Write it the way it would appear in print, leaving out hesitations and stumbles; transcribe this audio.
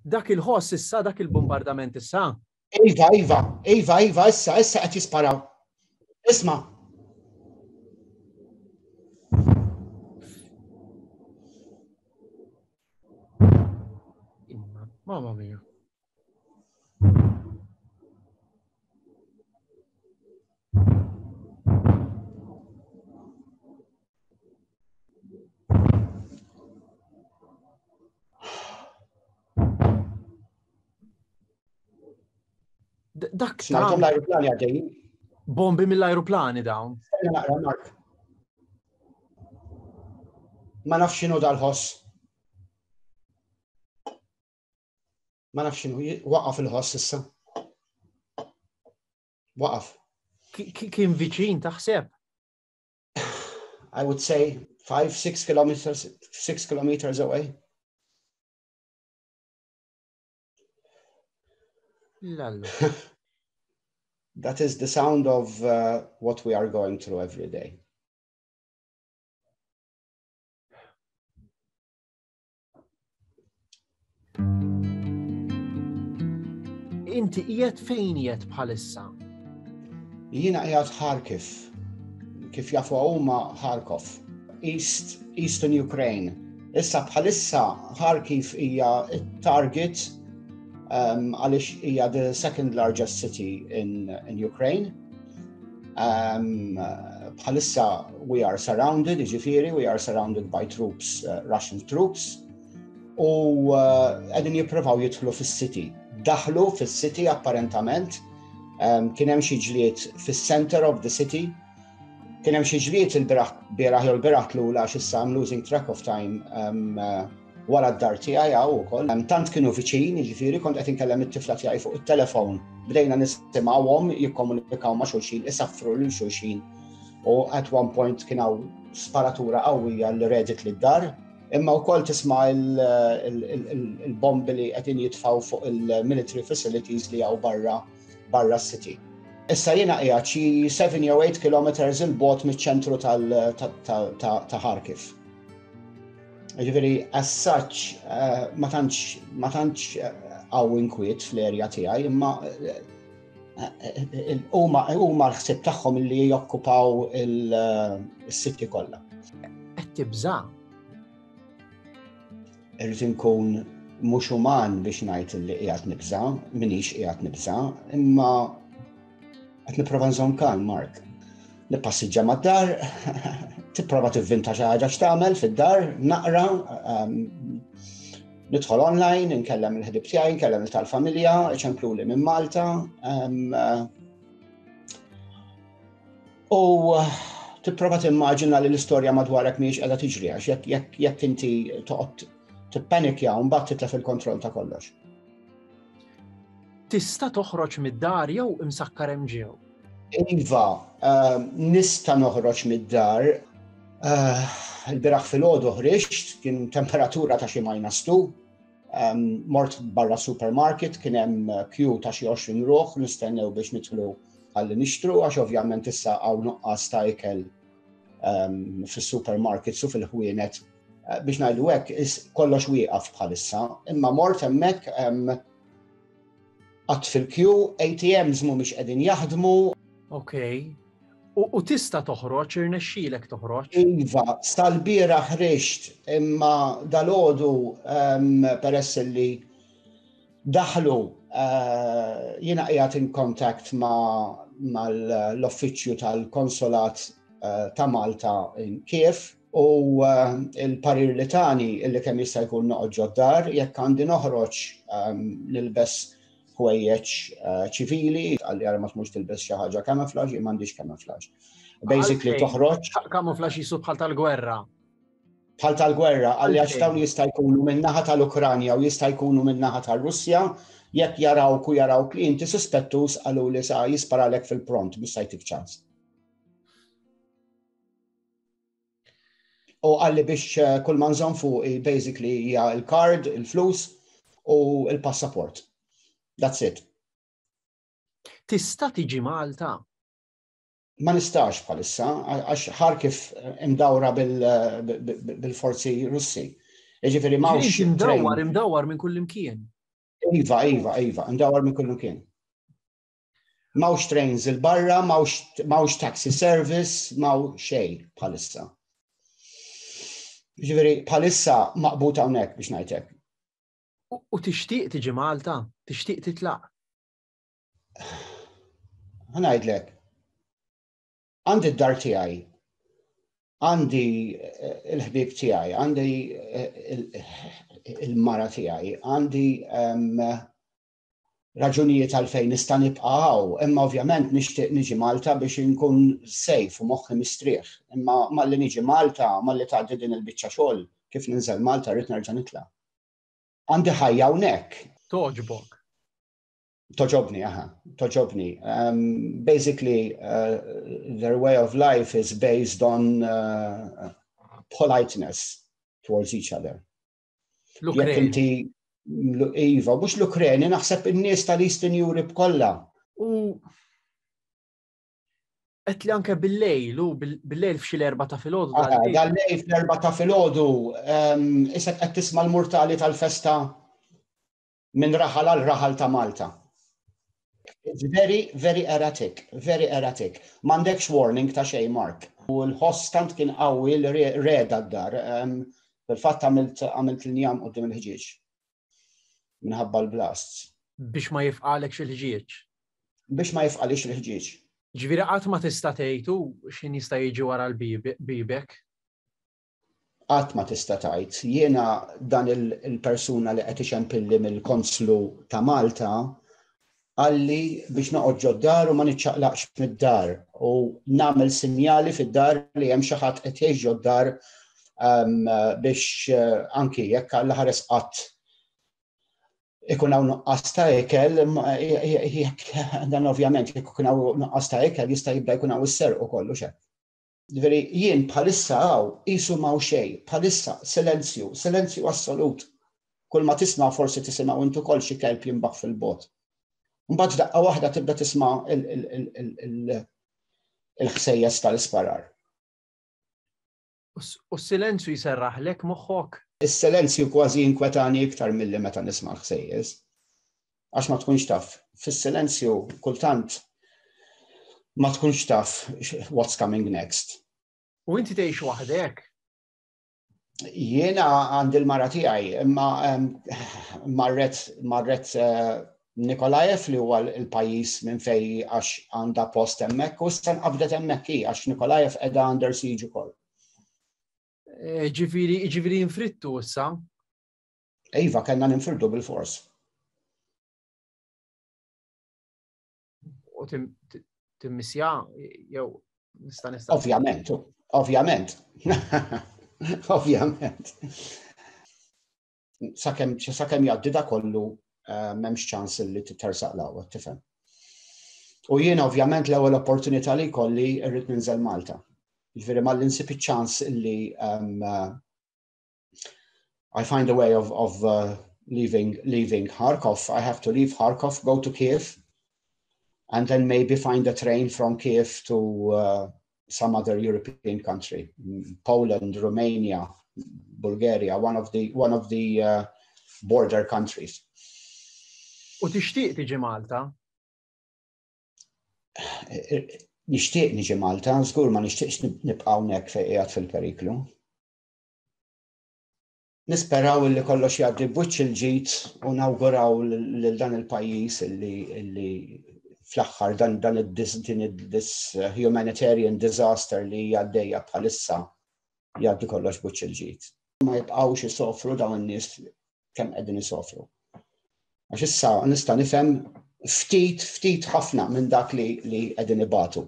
Dak il-ħoss issa, dak il-bombardament issa? Iva, iva, iva, iva, issa, issa qed jisparaw. Isma'. Mamma mia. Dak Smajthom l-ajruplani għaddejjin. Bombi mill-ajruplani dawn. Naqra, Mark. Ma nafx x'inhu dal-ħoss. Ma nafx x'inhu waqaf il-ħoss issa. Waqaf. Kien viċin taħseb? I would say 5, 6 kilometers, 6 kilometers away. Lallu. That is the sound of uh, what we are going through every day. Inti qiegħed fejn qiegħed bħalissa? Jiena qiegħed Kharkiv, kif jafu huma Kharkov, East, Eastern Ukraine. Issa bħalissa Kharkiv hija target um, għaliex hija the second largest city in, in Ukraine. Um, bħalissa we are surrounded, jiġifieri, we are surrounded by troops, uh, Russian troops, u uh, qegħdin jippruvaw jidħlu fis-city. Daħlu fis-city apparentament, um, kien hemm xi ġlied fis-center of the city, kien hemm xi ġlied il-biraħ bieraħ jew l-biraħ tlula għax issa I'm losing track of time um, uh, wara d-dar tiegħi hawn ukoll. Tant kienu viċin, jiġifieri kont qed inkellem it-tifla tiegħi fuq it-telefon. Bdejna nisimgħuhom jikkomunikaw ma' xulxin, isaffru lil xulxin. U at one point kien hawn sparatura qawwija li redet lid-dar. Imma wkoll tisma' il-bombi li qegħdin jitfgħu fuq il-military facilities li hawn barra barra s-city. Issa jiena qiegħed xi 7 jew 8 kilometers il-bogħod miċ-ċentru ta' Kharkiv. Ġifieri as such eh, ma tantx ma tantx eh, hawn inkwiet fl-erja tiegħi, imma eh, huma l-ħsieb tagħhom li jokkupaw il-siti kollha. Qed tibża'? Irrid inkun mhux uman biex ngħid li qiegħed nibża', minix qiegħed nibża', imma qed nipprova nżomm kalm, Mark. Nippassiġġa mad-dar, tipprova tivvinta xi ħaġa x'tagħmel fid-dar, naqra, ehm, nidħol online, nkellem il-ħbib tiegħi, nkellem il-tal-familja, iċempluli minn Malta. Ehm, u tipprova timmaġina li l-istorja madwarek mhijiex qiegħda tiġri għax jekk inti toqgħod tippanikja u mbagħad titlef il-kontroll ta' kollox. Tista' toħroġ mid-dar jew imsakkar hemm ġew? Iva, ehm, nista' noħroġ mid-dar. Eh, il-biraħ filgħodu ħriġt, kien temperatura ta' xi minus 2. Ehm, mort barra supermarket, kien hemm queue ta' xi 20 ruħ nistennew biex nidħlu għalli nixtru għax ovvjament issa hawn nuqqas ta' ikel ehm, fis-supermarkets u fil-ħwienet eh, biex ngħidu hekk kollox wieqaf bħalissa, imma mort hemmhekk Qatt fil-kju, ATMs mhumiex qegħdin jaħdmu. Ok. U tista' toħroġ, irnexxielek toħroġ? Iva, sal-bieraħ ħriġt, imma dalgħodu peress li daħlu eh, jiena qiegħed in contact ma' mal-uffiċċju tal-konsolat eh, ta' Malta in Kiev U eh, il-parir li tani illi kemm jista' jkun noqgħod ġod-dar, jekk għandi noħroġ ehm, nilbes ħwejjeġ eh, ċivili, għalli għara ma tmux tilbes xi ħaġa camouflage, jien m'għandix camouflage. Basically toħroġ. Camouflage jisu bħal tal-gwerra. Bħal tal-gwerra, għalli għax dawn jista' jkunu min-naħa tal-Ukranja u jista' jkunu min-naħa tal-Russja, jekk jarawk u jarawk li inti suspettus għalu li sa jisparalek fil-pront, mhux se jtik ċans. U għalli biex eh, kull ma nżomm fuqi basically hija il-card, il-flus u il-passaport. That's it. Tista' tiġi Malta? Ma nistax bħalissa, għax Kharkiv imdawra bil-forzi Russi. Jiġifieri m'hawnx. Imdawwar, imdawwar minn kull imkien. Iva, iva, iva, imdawwar minn kullimkien. M'hawnx trains 'il barra, m'hawnx taxi service, m'hawn xejn bħalissa. Ġifieri bħalissa maqbut hawnhekk biex ngħidlek. U tixtieq tiġi Malta? Tixtieq titlaq? Ħa ngħidlek. Għandi d-dar tiegħi, għandi eh, il-ħbieb tiegħi, għandi eh, il-mara tiegħi, għandi ehm, raġunijiet għalfejn nista' nibqa' hawn, imma ovvjament nixtieq niġi Malta biex inkun safe u moħħi mistrieħ. Imma malli niġi Malta, malli tgħaddi din il-biċċa xogħol, kif ninżel Malta rrid nerġa' nitla'. Għandi ħajja hawnhekk. Togħġbok. Togħġobni, aha, togħġobni. Um, basically, uh, their way of life is based on uh, politeness towards each other. Jekk inti Iva, mhux l-Ukreni, naħseb in-nies tal-Eastern Europe kollha. U qed li anke bil-lejl, u bil-lejl f'xi l-erba ta' filgħodu. Ah, dal-lejl fl-erba ta' filgħodu, ehm, issa qed tisma' l-murtali tal-festa minn raħal għal raħal ta' Malta. It's very, very erratic, very erratic. M'għandekx warning ta' xejn, Mark. U l-ħoss tant kien qawwi li reda d-dar. Fil-fatt għamilt għamilt l-njam quddiem il-ħġieġ. Minħabba l-blasts. Biex ma jifqalekx il-ħġieġ. Biex ma jifqalix il-ħġieġ. Ġifieri qatt ma tista' tgħid u x'in jista' jiġi wara l-bibek. Qatt ma tista' tgħid. Jiena dan il-persuna li qed iċempilli mill-Konslu ta' Malta qalli biex noqgħod ġod-dar u ma niċċaqlaqx mid-dar u nagħmel sinjali fid-dar li hemm xi ħadd qed jgħix ġod-dar ehm, biex eh, anki jekk Alla ħares qatt ikun hawn nuqqas ta' ikel, jekk dan ovvjament jekk ikun hawn nuqqas ta' ikel jista' jibda jkun hawn is-serq ukoll u xek. Ġifieri jien bħalissa hawn qisu m'hawn xejn, bħalissa silenzju, silenzju assolut. Kull ma tisma' forsi tisimgħu int ukoll xi kelb jinbaħ fil-bogħod. Mbagħad f'daqqa waħda tibda tisma' il-ħsejjes tal-isparar. U s-silenzju jserraħlek moħħok? Is-silenzju kważi jinkwetani iktar milli meta nisma' l-ħsejjes. Għax ma tkunx taf. Fis-silenzju kultant ma tkunx taf what's coming next. U inti tgħix waħdek? Jiena għandi l-mara tiegħi, imma marret marret eh, Nikolajev li huwa l-pajjiż minn fej għax għandha post hemmhekk u issa nqabdet hemmhekk hi għax Nikolajev qiegħda under siege ukoll. Eh, ġifieri ġifieri infrittu issa? Iva, kellna ninfirdu bil-fors. U timmissja jew nista' nista' Ovvjament, ovvjament. Ovvjament. Sakemm sakemm jgħaddi da kollu eh, m'hemmx ċans li titersaq l tifhem. U jiena ovvjament l-ewwel opportunità li jkolli rrid ninżel Malta. Jiġifieri malli nsib iċ-ċans li um, I find a way of, of uh, leaving, leaving Kharkov. I have to leave Kharkov, go to Kiev, and then maybe find a train from Kiev to uh, some other European country, Poland, Romania, Bulgaria, one of the, one of the uh, border countries. U tixtieq tiġi Malta? Nixtieq niġi Malta, żgur ma nixtieqx nibqa' hawnhekk fejn qiegħed fil-periklu. Nisperaw li kollox jgħaddi b'wiċċ il-ġid u nawguraw lil dan il-pajjiż illi fl-aħħar dan dan din this humanitarian disaster li għaddejja bħalissa jgħaddi kollox b'wiċċ il-ġid. Ma jibqgħux isofru dawn in-nies kemm qegħdin isofru. Għax issa nista' nifhem ftit ftit ħafna minn dak li li qegħdin ibatu.